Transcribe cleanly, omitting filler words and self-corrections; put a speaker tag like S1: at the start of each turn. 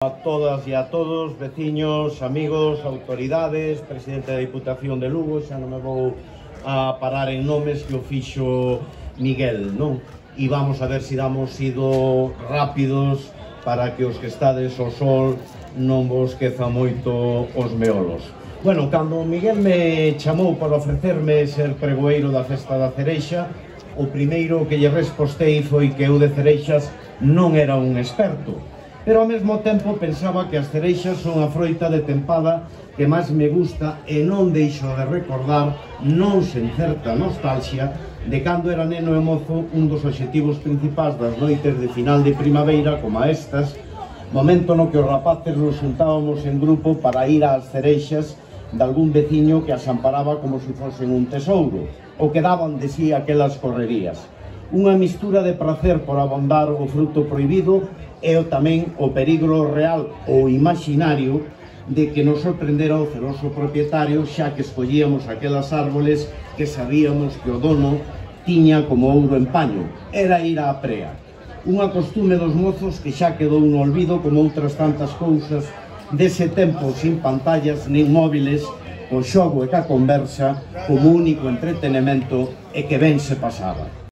S1: A todas e a todos, veciños, amigos, autoridades, presidente da Diputación de Lugo, xa non me vou a parar en nomes que o fixo Miguel, non? E vamos a ver se damos ido rápidos para que os que estades ao sol non vos queza moito os meolos. Bueno, cando Miguel me chamou para ofrecerme ser pregoeiro da Festa da Cereixa, o primeiro que lle respostei foi que eu de cereixas non era un experto, pero ao mesmo tempo pensaba que as cereixas son a froita de tempada que máis me gusta e non deixo de recordar, non sen certa nostalgia, de cando era neno e mozo un dos obxectivos principais das noites de final de primavera como estas, momento no que os rapaces nos xuntábamos en grupo para ir ás cereixas de algún veciño que as amparaba como se fosen un tesouro, ou que daban de sí aquelas correrías. Unha mistura de prazer por abondar o fruto prohibido e tamén o peligro real ou imaginario de que nos sorprendera o celoso propietario, xa que escollíamos aquelas árboles que sabíamos que o dono tiña como ouro en paño. Era ir á prea. Unha costume dos mozos que xa quedou no olvido como outras tantas cousas dese tempo sin pantallas nin móviles, o xogo e ca conversa como único entretenimento e que ben se pasaba.